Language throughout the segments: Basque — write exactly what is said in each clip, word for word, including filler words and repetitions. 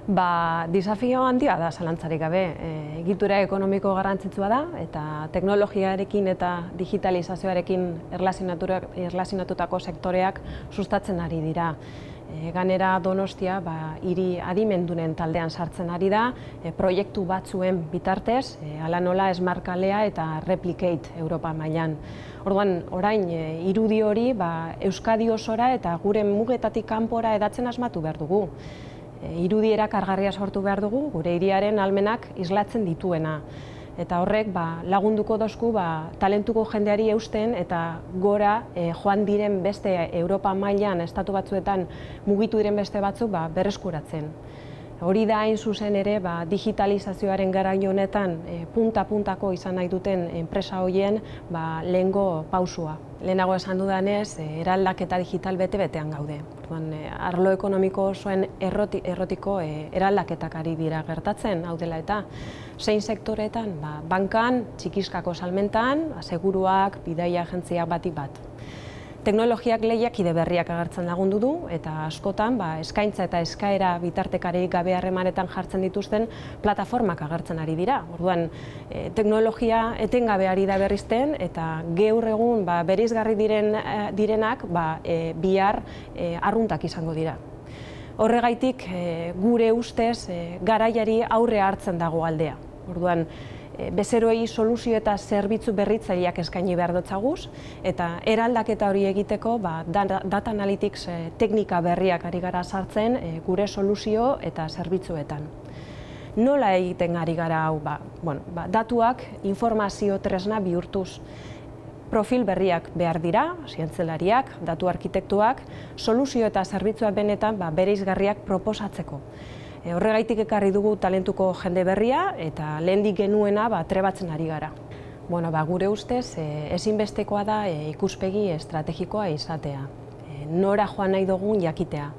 Ba, desafio handia da zalantzarik gabe. E, egitura ekonomiko garrantzitsua da eta teknologiarekin eta digitalizazioarekin erlazionatutako sektoreak sustatzen ari dira. E, ganera Donostia ba, hiri adimendunen taldean sartzen ari da, e, proiektu batzuen bitartez, e, hala nola Smart Kalea eta Replicate Europa mailan. Orduan, orain e, irudi hori ba, Euskadi osora eta gure mugetatik kanpora hedatzen asmatu behar dugu. Irudi erakargarria sortu behar dugu, gure hiriaren ahalmenak islatzen dituena. Eta horrek ba, lagunduko dozku ba, talentuko jendeari eusten eta gora e, joan diren beste Europa mailan estatu batzuetan mugitu diren beste batzuk ba, berreskuratzen. Hori da hain zuzen ere ba, digitalizazioaren garai honetan e, punta-puntako izan nahi duten enpresa horien ba, lehengo pausua. Lehenago esan dudanez, e, eraldaketa digital bete-betean gaude. Orduan, e, arlo ekonomiko osoen erroti, errotiko e, eraldaketak ari dira gertatzen, hau dela eta zein sektoretan, ba, bankan, txikiskako salmentan, seguruak, bidaia agentziak batik bat. Teknologiak lehiakide berriak agertzen lagundu du eta askotan ba, eskaintza eta eskaera bitartekari gabe harremanetan jartzen dituzten plataformak agertzen ari dira. Orduan, e, teknologia etengabe ari da berrizten eta gaur egun ba, bereizgarri diren, direnak ba, e, bihar e, arruntak izango dira. Horregaitik e, gure ustez e, garaiari aurre hartzen dago aldea. Orduan, bezeroei soluzio eta zerbitzu berritzaileak eskaini behar dotzaguz, eta eraldaketa hori egiteko ba, data analytics e, teknika berriak ari gara sartzen e, gure soluzio eta zerbitzuetan. Nola egiten ari gara hau? Ba, bueno, ba, datuak informazio tresna bihurtuz. Profil berriak behar dira, zientzelariak, datu arkitektuak, soluzio eta zerbitzua benetan ba, bereizgarriak proposatzeko. E, horregaitik ekarri dugu talentuko jende berria eta lehendik genuena ba, trebatzen ari gara. Bueno, ba, gure ustez e, ezinbestekoa da e, ikuspegi estrategikoa izatea. E, nora joan nahi dugun jakitea,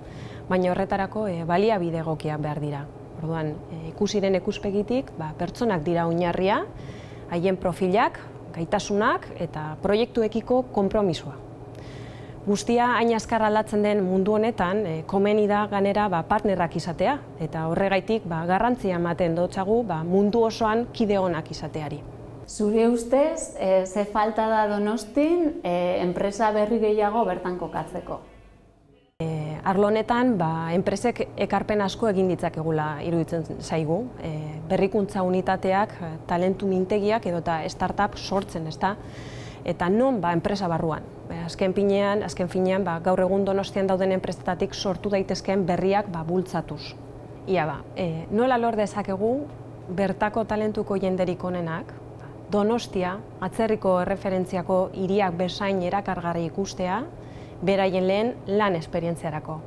baina horretarako e, baliabide egokiak behar dira. Orduan, e, ikusiren ikuspegitik ba, pertsonak dira oinarria, haien profilak, gaitasunak eta proiektuekiko konpromisoa. Guztia hain azkar aldatzen den mundu honetan, e, komeni da ganera ba, partnerrak izatea, eta horregaitik ba, garrantzia ematen dotzagu ba, mundu osoan kide onak izateari. Zure ustez, e, ze falta da Donostin e, enpresa berri gehiago bertan kokatzeko? E, arlo honetan, ba, enpresek ekarpen asko egin ditzakegula iruditzen zaigu. E, berrikuntza unitateak, talentu mintegiak edota startup sortzen, ezta? Eta non ba, enpresa barruan. Azken finean, azken finean ba, gaur egun Donostian dauden enpresetatik sortu daitezkeen berriak ba, bultzatuz. Ia ba, e, nola lor dezakegu bertako talentuko jenderik onenak, Donostia, atzerriko erreferentziako hiriak bezain erakargarri ikustea, beraien lehen lan esperientziarako.